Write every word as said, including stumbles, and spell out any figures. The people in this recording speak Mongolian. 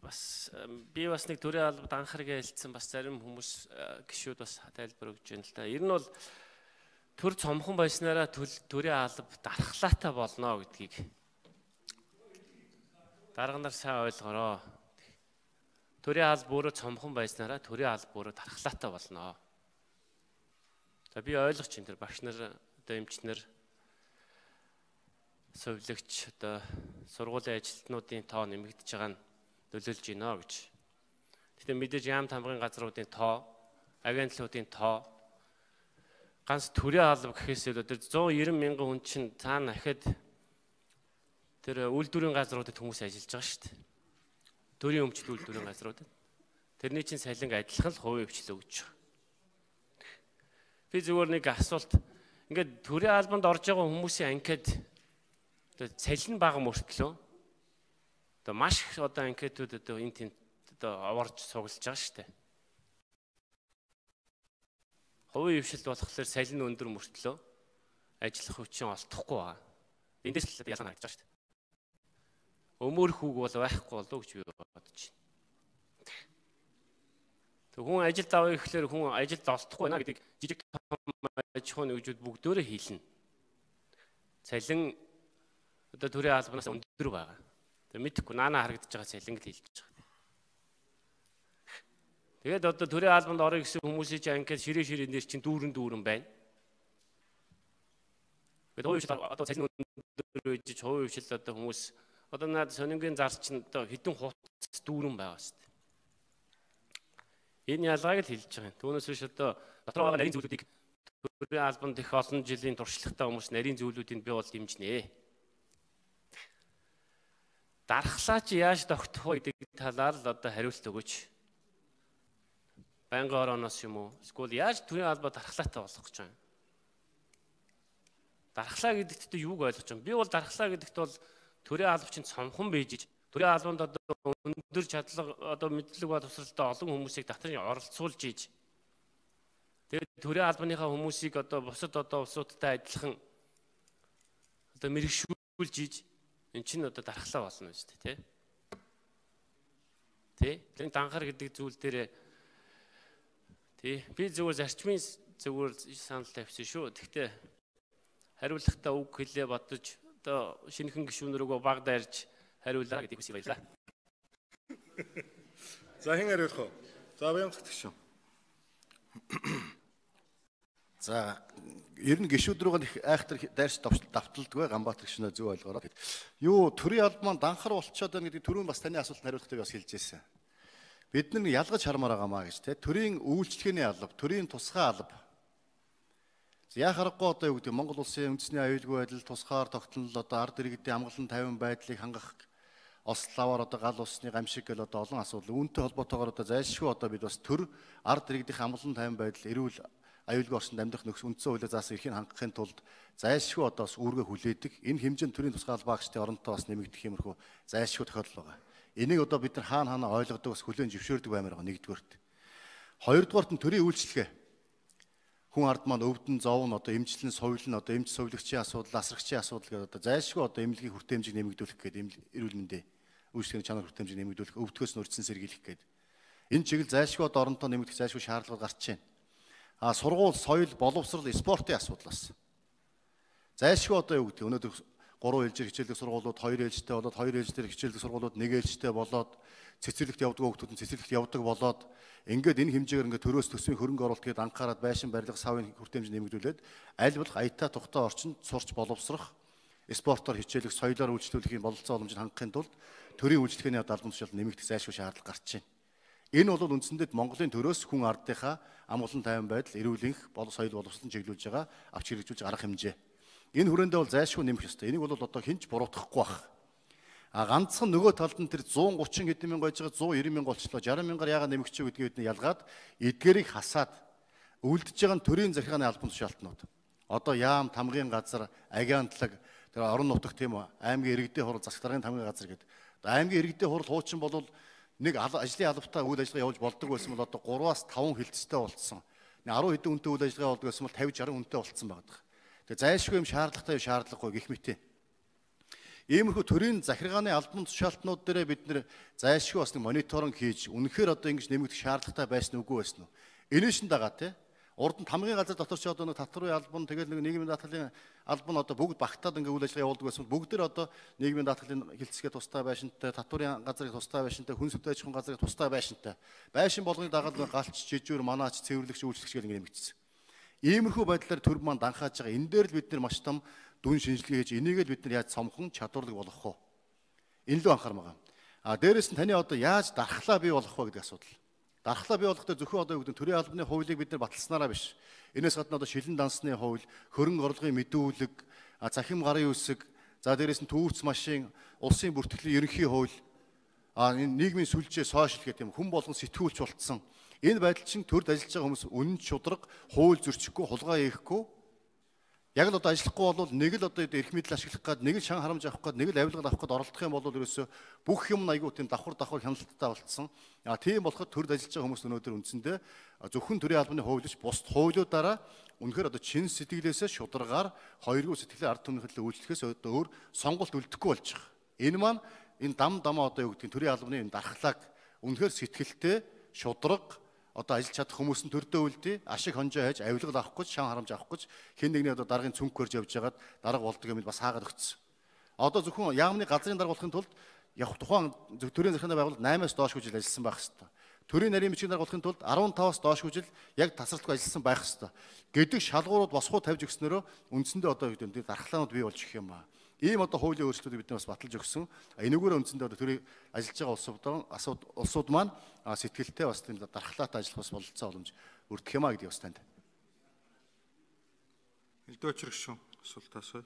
бас би бас нэг төрийн албад анхаарал хэлсэн бас зарим хүмүүс гишүүд бас тайлбар өгч байна л да. Ер нь бол төр цомхон байснараа төрийн алба дархлаатай болно гэдгийг дарга нар сайн ойлгороо. Төрийн алба өөрөө цомхон байснараа төрийн алба өөрөө дархлаатай болно. За би ойлгож чинь тэр багш нар одоо эмчнэр совилогч одоо сургуулийн ажилтнуудын тоо нэмэгдэж байгаа нь нөлөөлж байна гэж. Гэхдээ мэдээж яам тамгын газруудын тоо, агентлуудын тоо ганц төрийн алба гэхээс илүү тэр зуун найман мянган хүн чинь цаана ахад тэр үйлдвэрийн газруудад хүмүүс ажиллаж байгаа шүү дээ. Төрийн өмчт үйлдвэрийн газруудад. Тэрний чинь салинг адилхан л хувийн хвчлэл өгч байгаа. Би зүгээр нэг асуулт ингээд төрийн албанд орж байгаа хүмүүсийн анкет одоо салин бага мөртлөө одоо маш их одоо анкетууд одоо энэ тийм одоо аварж цуглаж байгаа шүү дээ. Хувийн хвшлэл болохоор салин өндөр мөртлөө ажиллах хүчин олдохгүй байгаа. Эндээс л ялгаа харагдаж байгаа шүү дээ. Өмөр хүүг бол байхгүй болов гэж би бодож байна. Тэг хүн ажилд авъя гэхлээр хүн ажилд олдохгүй байна гэдэг жижиг аж ахуйн нэгжүүд бүгдөө хийлнэ. Цалин одоо төрийн албанаас өндөр байгаа. Тэг мэдхгүй наана харагдаж байгаа цалин л хэлж байгаа. Тэгээд одоо төрийн албанд орё гэсэн хүмүүсийн чинь анкет ширээ ширээ нэр чинь дүүрэн дүүрэн байна. Тэгээд хувийн одоо цалин өндөр үеж хувийн хвшил одоо хүмүүс одоо наад сонингийн зар чинь одоо хэдэн хуудас дүүрэн байгаа шүү дээ. Энэ ялгааг л хэлж байгаа юм. Түүнээс биш одоо дотор байгаа нарийн зүйлүүдийг төрийн албанд их олон жилийн туршлагатай хүмүүс нарийн зүйлүүдийг би бол дэмжинэ. Дархлаа чи яаж тогтох вэ гэдэг талаар л одоо хариулт өгөөч. Байнгын орооноос юм уу? Эсвэл яаж төрийн албаа дархлаатай болгох гэж байна? Дархлаа гэдэгт юуг ойлгож байна? Би бол дархлаа гэдэгт бол төрийн алба чинь цомхон бийж, төрийн албанд одоо өндөр чадлага одоо мэдлэг ба тусралтай олон хүмүүсийг татан оролцуулж ийж. Тэгээд төрийн албаныхаа хүмүүсийг одоо бусад одоо улсуудтай адилхан одоо мэрэгшүүлж ийж эн чинь одоо дархлаа болно шүү дээ, тий? Тий? Тэр данхар гэдэг зүйл дээр тий би зөвхөн зарчмын зөвхөн санал тавьсан шүү. Гэхдээ хариулахдаа үг хэлээ бодож одоо шинэхэн гишүүн рүүгөө баг дайрж хариулаа гэдэг үсэг баялаа. За хэн хариулах вэ? За Баямцагт гишүүн. За ер нь гишүүд рүү их айхтар дайрч давталдгүй Ганбаатар гишүүнээ зөв ойлгоорой. Юу төрийн алба маань данхар болчиход байна гэдэг түрүүн бас таны асуултанд хариулахдаа бас хэлж ирсэн. Бид нар ялгаж хармаар байгаамаа гэж те төрийн үйлчлэгээний алба, төрийн тусгай алба. Яг харахгүй одоо юу гэдэг Монгол улсын үндэсний аюулгүй байдал, тусгаар тогтнол одоо ард иргэдийн амгалан тайван байдлыг хангах ославаар одоо гал усны гамшиг гэл одоо олон асуудал үүнтэй холбоотойгоор одоо зайлшгүй одоо бид бас төр ард иргэдийн амгалан тайван байдал, эрүүл аюулгүй орчинд амьдрах нөхцөл үндсэн хуулиар заасан эрхийг хангахын тулд зайлшгүй одоо бас үүргээ хүлээдэг. Энэ хэмжээнд төрийн тусгай албаа багчдын оронтой бас нэмэгдэх юмрхүү зайлшгүй тохиолдол байгаа. Энийг одоо бид нар хаана хаана ойлгодог бас хүлээн зөвшөөрдөг баймаар байгаа нэгдүгээрт. Хоёрдугаарт нь төрийн үйлчлэгээ. Хүн ард маань өвдөн зовн одоо эмчлэн соёлн одоо эмч совилогчийн асуудал, асрагчийн асуудал гэдэг одоо зайлшгүй одоо эмнэлгийн хүртээмжийг нэмэгдүүлэх гэдэг эрүүл мэндийн үйлчлэгээний чанар хүртээмжийг нэмэгдүүлэх, өвдгөөс нь урьдчилан сэргийлэх гэдэг. Энэ чиглэл зайлшгүй одоо оронтой нэмэгдэх зайлшгүй шаардлага гарч байна. А сургууль, соёл, боловсрол, спортын асуудлаас. Зайлшгүй одоо юу гэдэг өнөөдөр гурван ээлжээр хичээлдэг сургуулиуд хоёр ээлжтэй болоод хоёр ээлжээр хичээлдэг сургуулиуд нэг ээлжтэй болоод цэцэрлэгт явдаг хүүхдүүд нь цэцэрлэгт явдаг болоод ингээд энэ хэмжээгээр ингээд төрөөс төсвийн хөрөнгө оруулалт гээд анхаарал байшин барилга савын хүртээмж нэмэгдүүлээд аль болох аятаа тухтай орчинд сурч боловсрох, спортоор хичээлэх, соёлоор үйлчлүүлэхийн бололцоо боломжийг хангахын тулд төрийн үйлчлэгээний албан тушаал нэмэгдэх зайлшгүй шаардлага гарч байна. Энэ бол үндсэндээ Монголын төрөөс хүн ардынхаа амгалан тайван байдал, эрүүлэнх, бол соёл боловсролын чиглүүлж байгаа авч хэрэгжүүлж арга хэмжээ. Энэ хүрээндээ бол зайлшгүй нэмэх ёстой. Энийг бол одоо хинч буруутгахгүй байх. А ганцхан нөгөө талд нь тэр зуун гучин хэдэн мянга байж байгаа зуун найман мянга болчлоо. шаран мянгаар яагаад нэмэгч вэ гэдгийг бид ялгаад эдгээрийг хасаад үлдэж байгаа нь төрийн захиргааны албан тушаалтнууд. Одоо яам, тамгын газар, агентлаг, тэр орон нутагт тийм үү, аймгийн иргэдийн хурал, засаг даргын тамгын газар гэдэг. Аймгийн иргэдийн хурал хуучин бол нэг ажлын албатай үйл ажиллагаа явуулж болдог байсан бол одоо гураваас таван хилцтэй болцсон. арван хэдэн хүнтэй үйл ажиллагаа болдог байсан бол тавьж арван хүнтэй болцсон байдаг. Тэгээ зайлшгүй юм шаардлагатай шаардлагагүй гэх мэт. Иймэрхүү төрийн захиргааны албан тушаалтнууд дээр бид нэр зайлшгүй бас нэг мониторинг хийж үнэхээр одоо ингэж нэмэгдэх шаардлагатай байсан үгүй байсан уу? Энэш нь дагаа тий. Урд нь тамгын газар дотор ч одоо нэг татварын албан тэгэл нэг нийгмийн даатгалын албан одоо бүгд багтаад ингээ үйл ажиллагаа явуулдаг байсан. Бүгд төр одоо нийгмийн даатгалын хилцгээ тустай байшинтай, татварын газрыг тустай байшинтай, хүн сүт аж ахуйн газрыг тустай байшинтай. Байшин болгоныг дагаад галч, жижүүр, манаач, цэвэрлэгч, үйлчлэгч гэл ингээ нэмэгдсэн. Иймэрхүү байдлаар төр маань данхааж байгаа. Энэ дээр л бид нар маш том дүн шинжилгээ хийж энийг л бид нар яаж цомхон чадварлаг болгох вэ? Энэ л анхаарах байгаа. А дээрэс нь таны одоо яаж дархлаа бий болгох вэ гэдэг асуудал. Дархлаа бий болгохдоо зөвхөн одоо юу гэдэг төрийн албаны хуулийг бид нар баталснараа биш. Энээс гадна одоо шилэн дансны хууль, хөрөнгө орлогын мэдүүлэг, захим гарын үсэг, за дээрэс нь төвөрц машин, улсын бүртгэлийн ерөнхий хууль, а энэ нийгмийн сүлжээ сошиал гэх юм хүн болгон сэтгүүлч болцсон. Энэ байдал чинь төрд ажиллаж байгаа хүмүүс үнэн шударга, хууль зөрчихгүй, хулгай хийхгүй. Яг л одоо ажиллахгүй бол нэг л одоо эрх мэдэл ашиглах гээд, нэг л шан харамж авах гээд, нэг л авилгал авах гээд оролдох юм бол ерөөсөө бүх юм айгүй тийм давхар давхар хяналттай болцсон. А тийм болоход төрд ажиллаж байгаа хүмүүс өнөөдөр үндсэндээ зөвхөн төрийн албаны хуулийг бусд хуулиудаараа үнэхээр одоо чин сэтгэлээсээ шударгаар хоёргүй сэтгэлээр ард түмнийхээ үйлчлэхээс өөр сонголт үлдэхгүй болж байгаа. Энэ маань энэ дам дамаа одоо юу гэдэг төрийн албаны энэ дархлааг үнэхээр сэтгэлтэй шударга одоо ажиллаж чадах хүмүүс нь төрдөө үлдээ ашиг хонжоо хайж авилгал авах гэж шан харамж авах гэж хэн нэгний одоо даргын цүнх хөрж явж байгаад дарга болдог юм бас хаагаад өгцсөн. Одоо зөвхөн яамны газрын дарга болохын тулд яг тухайн төрийн захиргааны байгууллага наймаас доош хүжил ажилласан байх хэвээр. Төрийн нарийн бичгийн дарга болохын тулд арван таваас доош хүжил яг тасралтгүй ажилласан байх хэвээр. Гэдэг шалгуурууд босхоо тавьж өгснөөрөө үндсэндээ одоо юу гэдэг дархлаанууд бий болж ирэх юм аа. Ийм одоо хуулийн өөрчлөлтүүд бид бас баталж өгсөн. Энэгээр үндсэндээ одоо төрийн ажиллаж байгаа улсууд улсууд маань сэтгэлтэй бас тийм дархлаатай ажиллах бас бололцоо боломж өрдөх юм а гэдгийг бас танд. Элдвэчрэг шүү. Асуулт асууя.